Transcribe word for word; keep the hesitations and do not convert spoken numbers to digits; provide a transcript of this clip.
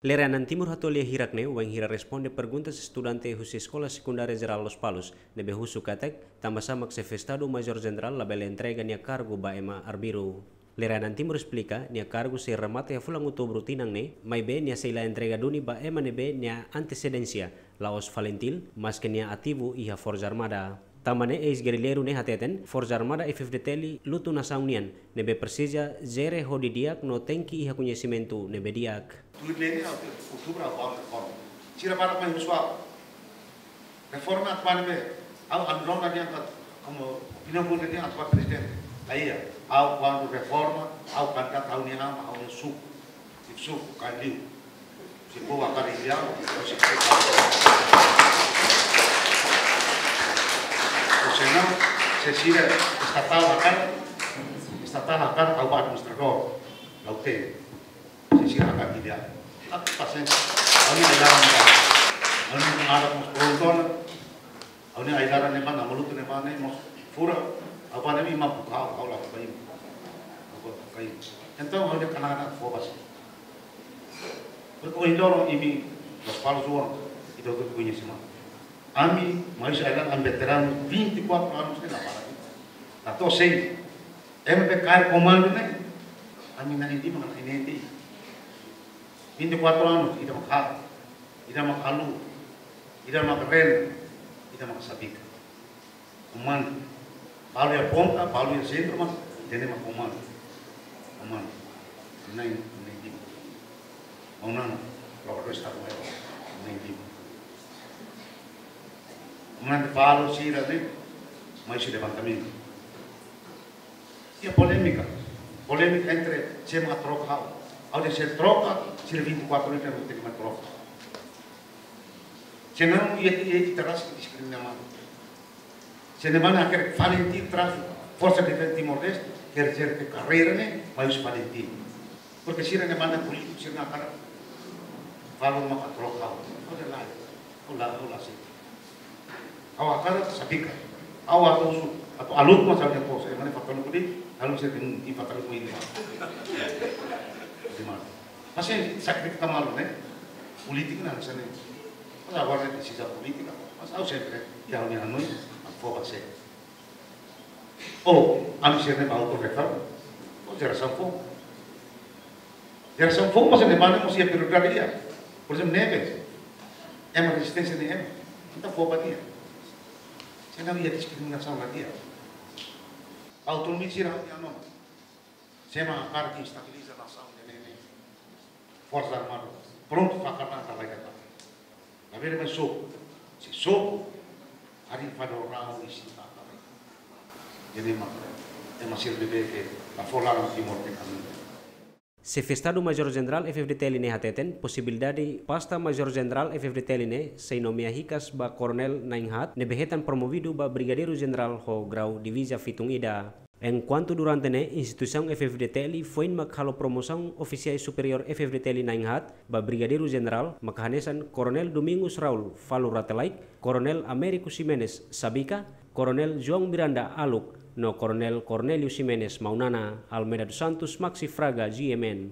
Lere-an Timur hato'o lia hirak ne'e wainhira responde perguntas estudante husi Eskola Sekundária Jerál Lospalos ne'ebé husu katak tanbasá mak Xefe Estadu Majór Jenerál labele entrega nia kargu ba ema arbiru. Lere-an Timur esplika nia kargu sei remata iha fulan Outubru tinan ne'e, maibé nia sei la entrega duni ba ema ne'ebé nia antesedénsia la'ós FALINTIL, maske nia ativu iha Forsa Armada. Tanba ne'e eis-gerrilleiru ne'e hateten, Forsa Armada F-FDTL lutu nasaun nian, ne'ebé presiza jere ho didi'ak no tenke iha koñesimentu ne'ebé di'ak. Tuir lei ne'e, Outubru ha'u ba reforma. Sira barak mai husu ha'u. Reforma atu bá ne'ebé? Ha'u anu rona dehan katak, komu opiniaun públika dehan atu bá prezidente. Laiha, ha'u kuandu reforma, ha'u kandidata ha'u-nia an, ha'u-nia suku. Suku, kailiu. Se povu hakarak hili ha'u, ha'u sei. Ou senão, se sira estatál hakarak, estatál hakarak ha'u bá administradór. Ha'u tenke. Se sira hakarak hili ha'u. Tapi pasiénsia. Ha'u-nia ai-laran ne'ebá. Ha'u-nia ai-laran mós prontu ona. Ha'u-nia ai-laran ne'ebá, nama lutu ne'ebá ne'e mós furak. Ha'u bá ne'e imi mak buka ha'u, ha'u la buka imi. Ha'u la buka imi. Entaun ha'u-nia kanana fó ba sira. Porque ohin loron imi Lospalos oan, ita hotu koñese mak. Ami, maibé ai-laran, ami veteranu vinte e quatro anos ne'e la para. La to'o sei. Ema be kaer komandu ne'e, ami na'in-lima ka na'in-neen de'it. Vinte e quatro anos, ida mak halo, ida mak haluha, ida mak rena, ida mak sabika. Komandu. Balu iha ponta, balu iha sentru, mas ida-ne'e mak komandu. Komandu. Na'in, na'in-lima. Maun Nana, Provokadór Estadu Maiór, na'in-lima. Komandu balu sira ne'e, mai husi levantamentu. Iha polémika. Polémika entre sé mak troka ha'u. Ha'u dehan se troka, sira vinte e quatro ne'e tenke mai troka. Senão, iha, iha, ita rasik diskrimina malu. Se ne'e mak hakerek FALINTIL tras Forsa Defeza Timor-Leste, quer dizer que karreira ne'e, mai husi FALINTIL. Porque sira ne'e mak polítiku, sira ne'e hakarak. Falun maka troka ha'u. Ha'u dehan lae. Ha'u la, ha'u la sei. Ha'u hakarak sabika. Ha'u atu husu, atu aluku mas ha'u-nia kos. Ema ne'e fatalu kudi, lalu sira dehan, "Ih, fatalu kudi." Di mana? Pasti sakrifika malu, ne'e? Polítika ne'e hanesan ne'e. Mas agora ne'e desizão polítika. Mas ha'u sempre, iha ha'u-nia hanoin, atu fó ba sé. Ou, ami sira ne'e bá autorrefere. Ou jerasaun foun. Jerasaun foun, mas ne'e mane mós iha prioridade ida. Por ezemplu, ne'ebé. Ema rezisténsia ne'e ema. Entaun fó ba nia. Senão iha diskriminasaun la di'ak. Autonomia sira ha'u-nia hanoin. Sé mak hakarak estabiliza nasaun ne'e, ne'e, ne'e. Forsa Armada. Prontu, fakar na talai kata. Labele mai sobu. Se sobu, harii fali ho rau isin ba talai. Ne'e mak, ema sira ne'ebé ke la fó laran Timor nia kamiñu. Xefe Estadu Majór Jenerál F-FDTL ne'e hateten, posibilidade pasta Majór Jenerál F-FDTL ne'e sei nomeia hikas ba Koronél na'in-haat, ne'ebé hetan promovidu ba Brigadeiru Jenerál ho grau diviza fitun ida. Enkuantu durante ne'e, instituisaun F-FDTL foin mak halo promosaun ofisiais superiór F-FDTL na'in-haat ba Brigadeiru Jenerál, maka hanesan Koronél Domingos Raul Falur Rate Laek, Koronél Américo Ximenes Sabika, Koronél João Miranda Aluk, no Koronél Cornélio Ximenes Maunana. Almeida dos Santos, Maxi Fraga, G M N.